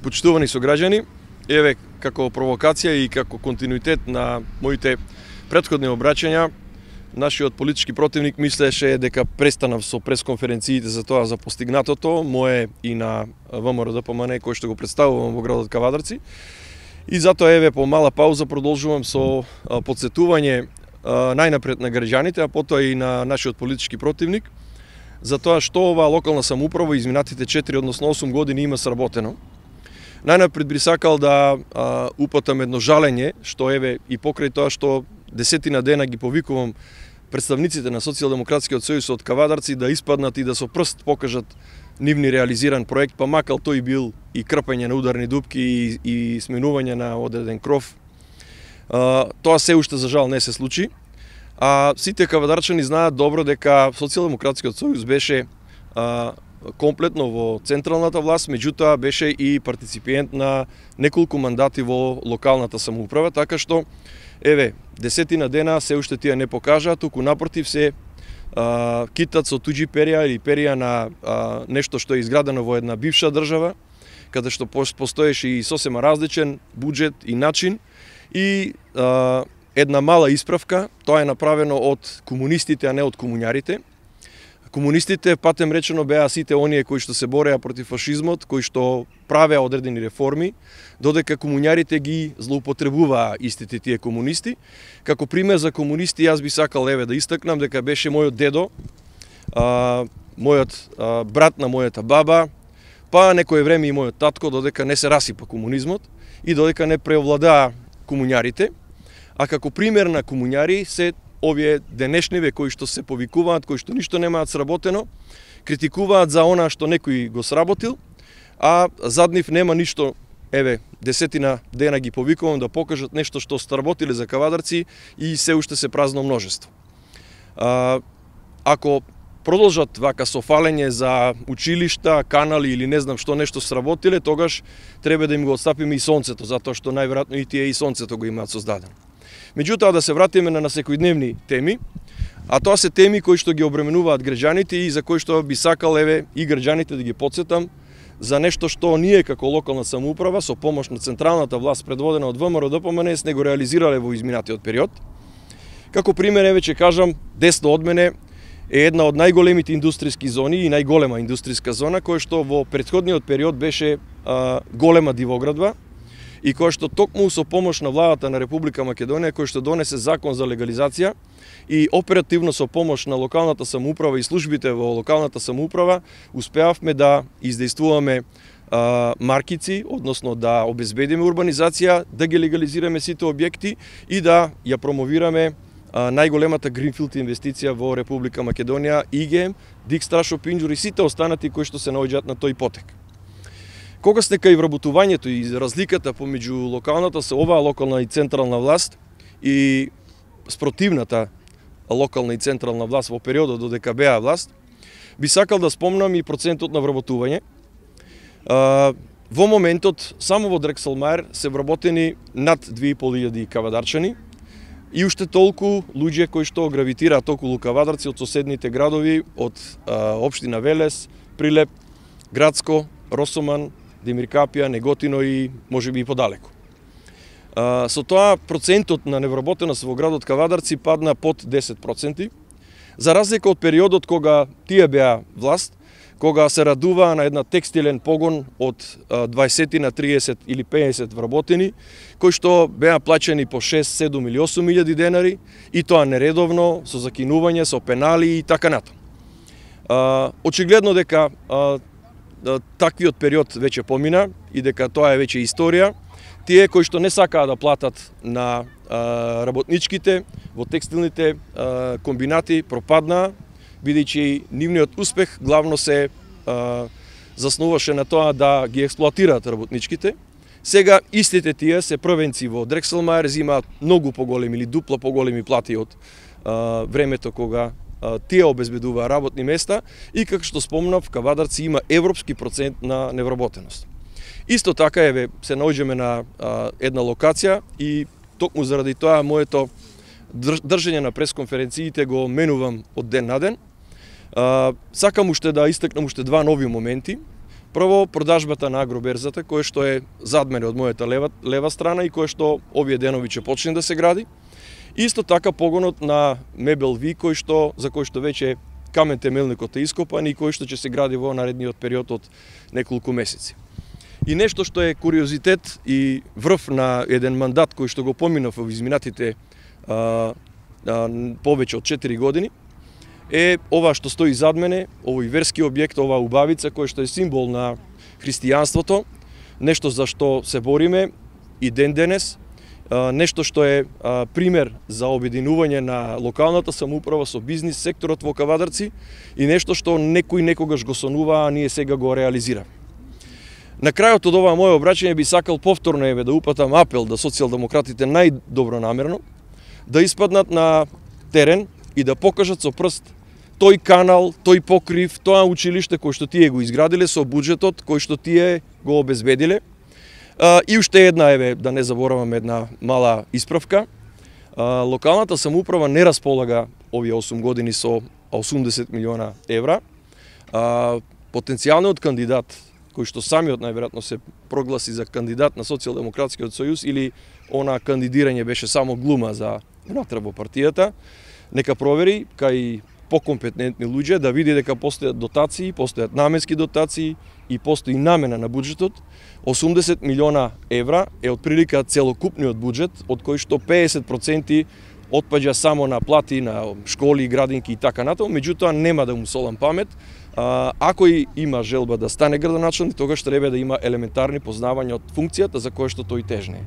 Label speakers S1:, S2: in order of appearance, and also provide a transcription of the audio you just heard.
S1: Почитувани сограѓани, еве како провокација и како континуитет на моите претходни обраќања, нашиот политички противник мислеше дека престанав со пресконференциите за тоа за постигнатото, мое и на ВМРО-ДПМН кој што го представувам во градот Кавадарци. И затоа еве по мала пауза продолжувам со потсетување најнапред на граѓаните, а потоа и на нашиот политички противник, за тоа што оваа локална самоуправа изминатите 4, односно 8 години има сработено. Најнапред би сакал да упатам едно жалење, што еве и покрај тоа што 10 дена ги повикувам представниците на Социјалдемократскиот сојуз од Кавадарци да испаднат и да со прст покажат нивни реализиран проект, па макар тој бил и крпење на ударни дупки и сменување на одреден кров. Тоа се уште за жал не се случи. А сите кавадарчани знаат добро дека Социјалдемократскиот сојуз беше комплетно во централната власт, меѓутоа беше и партиципиент на неколку мандати во локалната самоуправа, така што еве 10 дена се уште тие не покажаа, туку напротив се китат со туѓи перија или перија на нешто што е изградено во една бивша држава, каде што постоеше и сосема различен буџет и начин и една мала исправка, тоа е направено од комунистите, а не од комуњарите. Комунистите, патем речено, беа сите оние кои што се бореа против фашизмот, кои што правеа одредени реформи, додека комуњарите ги злоупотребуваа истите тие комунисти. Како пример за комунисти, јас би сакал еве да истакнам дека беше мојот дедо, мојот брат на мојата баба, па некое време и мојот татко, додека не се расипа комунизмот и додека не преовладаа комуњарите. А како пример на комуњари се овие денешниве кои што се повикуваат, кои што ништо немаат сработено, критикуваат за она што некој го сработил, а зад нив нема ништо. Еве, 10 дена ги повикувам да покажат нешто што сработиле за Кавадарци и се уште се празно множество. Ако продолжат вака со фалење за училишта, канали или не знам што нешто сработиле, тогаш треба да им го отстапиме и сонцето, затоа што најверојатно и тие и сонцето го имаат создадено. Меѓутоа да се вратиме на секојдневни теми, а тоа се теми кои што ги обременуваат граѓаните и за кои што би сакал еве и граѓаните да ги потсетам за нешто што ние како локална самоуправа со помош на централната власт предводена од ВМРО-ДПМН не го реализирале во изминатиот период. Како пример еве ќе кажам, десно од мене е една од најголемите индустријски зони и најголема индустријска зона која што во претходниот период беше голема дивоградба и која што токму со помош на владата на Република Македонија, која што донесе закон за легализација и оперативно со помош на локалната самоуправа и службите во локалната самоуправа, успеавме да издействуваме маркици, односно да обезбедиме урбанизација, да ги легализираме сите објекти и да ја промовираме најголемата гринфилд инвестиција во Република Македонија, ИГМ, Дикстра Шопинџур и сите останати кои што се наоѓаат на тој потек. Кога сте кај вработувањето и разликата помеѓу оваа локална и централна власт и спротивната локална и централна власт во периодот додека беа власт, би сакал да спомнам и процентот на вработување. Во моментот само во Дрекселмајер се вработени над 2500 кавадарчани и уште толку луѓе кои што гравитираат околу Кавадарци од соседните градови, од општина Велес, Прилеп, Градско, Росоман, Демиркапија, Неготино и можеби и подалеку. Со тоа процентот на невработеност во градот Кавадарци падна под 10%, за разлика од периодот кога тие беа власт, кога се радуваа на една текстилен погон од 20 на 30 или 50 вработени, кои што беа плаќани по 6, 7 или 8 илјади денари, и тоа нередовно, со закинување, со пенали и така натаму. Очигледно дека таквиот период веќе помина и дека тоа е веќе историја. Тие кои што не сакаа да платат на работничките во текстилните комбинати пропаднаа, бидејќи нивниот успех главно се заснуваше на тоа да ги експлоатираат работничките. Сега истите тие се првенци во Дрекселмајер, земаат многу поголеми или дупло поголеми плати од времето кога тие обезбедуваа работни места и како што спомнав, Кавадарци има европски процент на невработеност. Исто така еве се наоѓаме на една локација и токму заради тоа моето држење на пресконференциите го менувам од ден на ден. Сакам уште да истакнам уште два нови моменти. Прво, продажбата на агроберзата, кој што е зад мене од мојата лева страна и кој што овие денови ќе почне да се гради. Исто така погонот на Мебел Ви, за кој што веќе камен темелникот е ископан и кој што ќе се гради во наредниот период од неколку месеци. И нешто што е куриозитет и врв на еден мандат кој што го поминав во изминатите повеќе од 4 години, е ова што стои зад мене, овој верски објект, оваа убавица кој што е символ на христијанството, нешто за што се бориме и ден денес, нешто што е пример за обединување на локалната самоуправа со бизнис секторот во Кавадарци и нешто што некој некогаш го сонува, а ние сега го реализира. На крајот од ова моје обраќање би сакал повторно да упатам апел да социјалдемократите најдобронамерно да испаднат на терен и да покажат со прст тој канал, тој покрив, тоа училиште кој што тие го изградиле со буџетот кој што тие го обезбедиле. И уште една, да не заборавам една мала исправка. Локалната самоуправа не располага овие 8 години со 80 милиона евра. Потенцијалниот кандидат, кој што самиот најверојатно се прогласи за кандидат на Социјалдемократскиот сојуз или она кандидирање беше само глума за внатре во партијата, нека провери кај покомпетентни луѓе да види дека постојат дотации, постојат наменски дотации и постои намена на буџетот. 80 милиона евра е отприлика целокупниот буџет, од кој што 50% отпаѓа само на плати, на школи, градинки и така натаму, меѓутоа нема да му солам памет. Ако и има желба да стане градоначелник, тогаш треба да има елементарни познавања од функцијата за која што тој тежне.